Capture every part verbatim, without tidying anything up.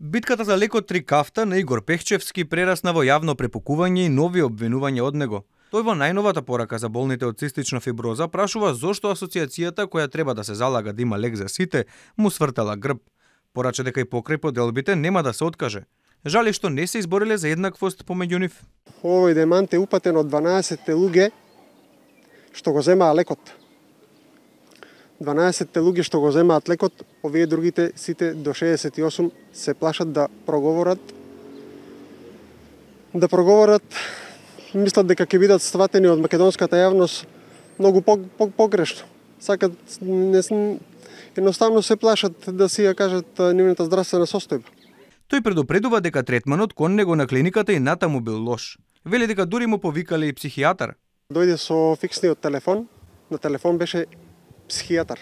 Битката за лекот Трикафта на Игор Пехчевски прерасна во јавно препукување и нови обвинувања од него. Тој во најновата порака за болните од цистична фиброза прашува зошто асоциацијата, која треба да се залага да има лек за сите, му свртала грб. Порача дека и покрај поделбите нема да се откаже. Жали што не се избориле за еднаквост помеѓу нив. Овој демант е упатен од дванаесет луѓе што го земаа лекот. дванаесет луѓе што го земаат лекот, овие другите сите до шеесет и осум се плашат да проговорат. Да проговорат, мислат дека ќе бидат сватени од македонската јавност многу погрешно. Сакат, не, едноставно се плашат да си ја кажат нивната здравствена состојба. Тој предупредува дека третманот кон него на клиниката и натаму бил лош. Вели дека дури му повикале и психијатар. Дојде со фиксниот телефон, на телефон беше психијатар.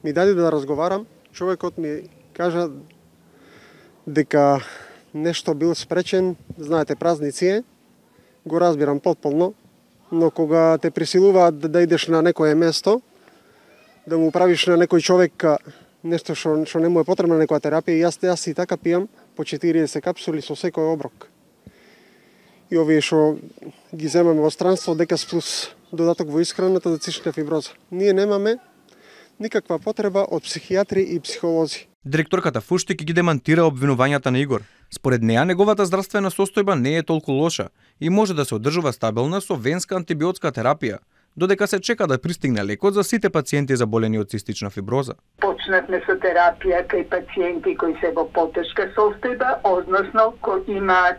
Ми даде да разговарам, човекот ми кажа дека нешто бил спречен, знаете, празници е, го разбирам потполно, но кога те присилуваат да идеш на некое место, да му правиш на некој човек нешто што, што не му е потребна некоја терапија, јас, јас и така пијам по четириесет капсули со секој оброк. И овие што ги земаме во странство, Декас плюс додаток во исхраната за цистична фиброза. Ние немаме никаква потреба од психијатри и психолози. Директорката Фуштик ги демантира обвинувањата на Игор. Според неа, неговата здравствена состојба не е толку лоша и може да се одржува стабилна со венска антибиотска терапија, додека се чека да пристигне лекот за сите пациенти заболени од цистична фиброза. Почнавме со терапија кај пациенти кои се во потешка состојба, односно кои имаат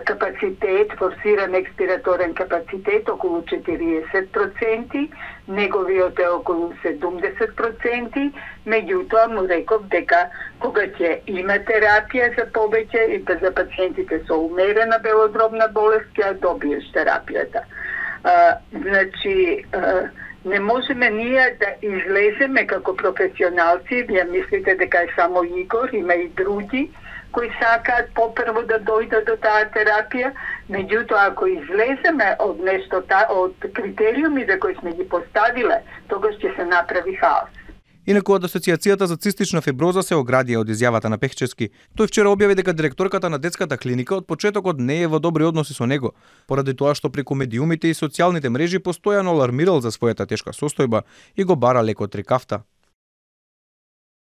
капацитет, форсиран експираторен капацитет околу четириесет проценти, неговиот е околу седумдесет проценти, меѓутоа му реков дека кога ќе има терапија за повеќе и за пациентите со умерена белодробна болест, ќе добиеш терапијата. А, значи, а, не можеме ние да излеземе како професионалци, вие мислите дека е само Игор, има и други, кои сакаат попрво да дојдат до таа терапија, меѓутоа ако излеземе од нешто, од критериумите кои сме ги поставиле, тогаш ќе се направи хаос. Инаку од Асоциацијата за цистична фиброза се оградија од изјавата на Пехчевски. Тој вчера објави дека директорката на детската клиника од почетокот не е во добри односи со него, поради тоа што преку медиумите и социјалните мрежи постојано алармирал за својата тешка состојба и го бара лекот Трикафта.